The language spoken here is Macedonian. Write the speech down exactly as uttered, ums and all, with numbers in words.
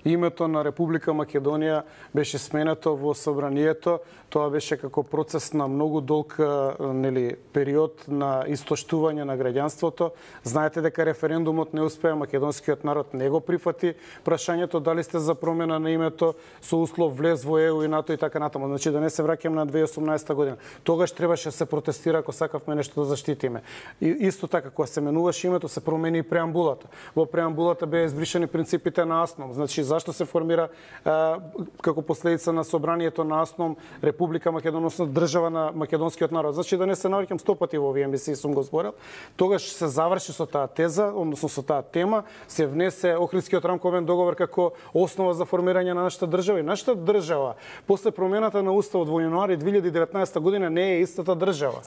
името на Република Македонија беше сменето во собранието. Тоа беше како процес на многу долг нели период на истоштување на граѓанството. Знаете дека референдумот не успеа, македонскиот народ не го прифати прашањето дали сте за промена на името со услов влез во Е У и НАТО и така натаму. Значи да не се враќам на две илјади и осумнаесета година. Тогаш требаше да се протестира ако сакавме нешто да заштитиме. И исто така кога се менуваше името се промени и преамбулата. Во преамбулата беа избришани принципите на АСНОМ. Значи зашто се формира а, како последица на собранието на АСНОМ Република Македонија, држава на македонскиот народ. Значи да не се навраќам сто пати во овие емисии сум го зборил. Тогаш се заврши со таа теза, односно со таа тема, се внесе Охридскиот рамковен договор како основа за формирање на нашата држава. И нашата држава после промената на уставот во јануари две илјади и деветнаесета година не е истата држава.